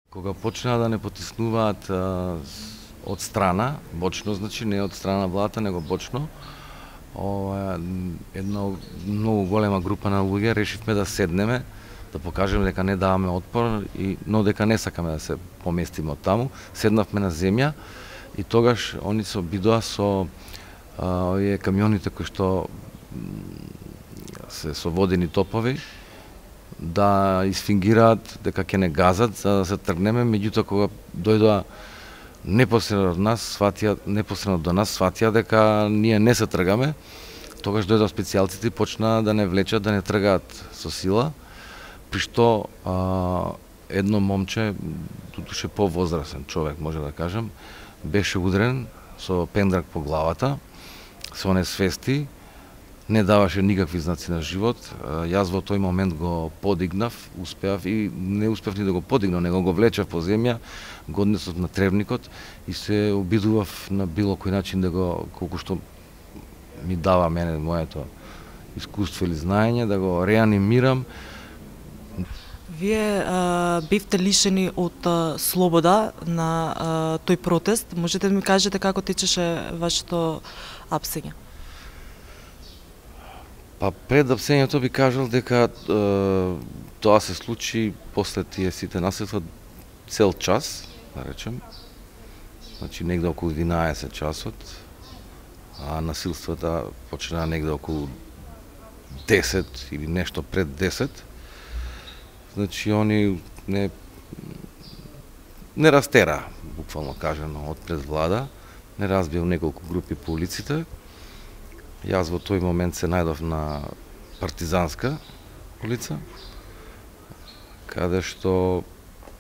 Кога почнаа да не потиснуваат од страна, бочно, значи не од страна владата, него бочно, една многу голема група на луѓе решивме да седнеме, да покажеме дека не даваме отпор, но дека не сакаме да се поместиме од таму. Седнавме на земја и тогаш они се обидоа со овие камионите кои што се со водени топови, да изфингираат дека ќе не газат за да се тргнеме, меѓутоа кога дојдоа непосредно до нас сватија дека ние не се тргаме, тогаш дојдоа специјалците и почнаа да не влечат, да не тргаат со сила, при што едно момче, тутуше повозрасен човек, може да кажем, беше удрен со пендрак по главата, со несвести, не даваше никакви знаци на живот. Јас во тој момент го подигнав, успеав и не успеав ни да го подигнав, него го влечав по земја, го однесов на тревникот и се обидував на било кој начин да го, колку што ми дава мене моето искуство или знаење, да го реанимирам. Вие бевте лишени од слобода на тој протест. Можете да ми кажете како течеше вашето апсење? Па пред апсењето би кажал дека тоа се случи после тие сите насилства цел час, да речем. Значи негде околу 11 часот, а насилствата почнаа негде околу 10 или нешто пред 10. Значи они не растера, буквално кажано, од пред влада, не разбил неколку групи по улиците. Јас во тој момент се најдов на Партизанска улица, каде што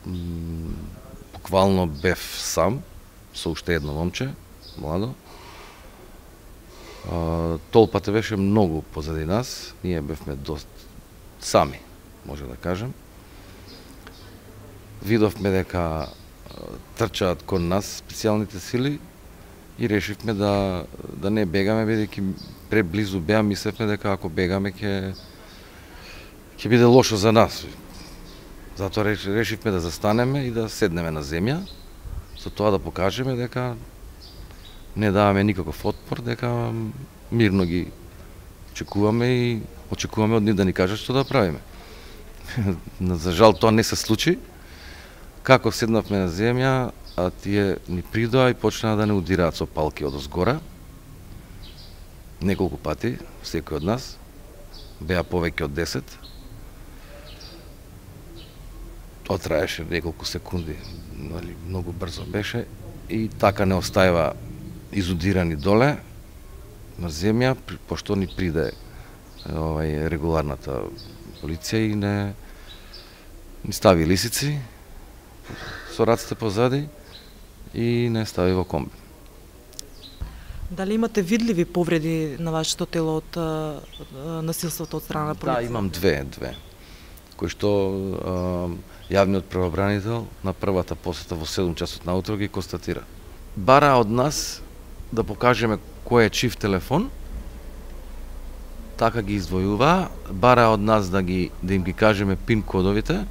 буквално бев сам, со уште едно момче, младо. Толпата беше многу позади нас, ние бевме доста сами, може да кажем. Видовме дека трчаат кон нас специјалните сили и решивме да не бегаме, бидејќи преблизу беа, мислевме дека ако бегаме ќе биде лошо за нас. Затоа решивме да застанеме и да седнеме на земја, со тоа да покажеме дека не даваме никаков отпор, дека мирно ги очекуваме и очекуваме од нив да ни кажат што да правиме. За жал тоа не се случи. Како седнавме на земја, а тие ни придоа и почнаа да не удираат со палки од озгора. Неколку пати, секој од нас, беа повеќе од 10. Тоа траеше неколку секунди, многу брзо беше и така не остајава изудирани доле на земја, пошто ни приде регуларната полиција и ни стави лисици со раците позади и не стави во комби. Дали имате видливи повреди на вашето тело од насилството од страна на полиција? Да, имам две, кои што јавниот правобранител на првата посета во 7 часот наутро ги констатира. Бара од нас да покажеме кој е чив телефон, така ги издвојува, бара од нас да им ги кажеме пин кодовите,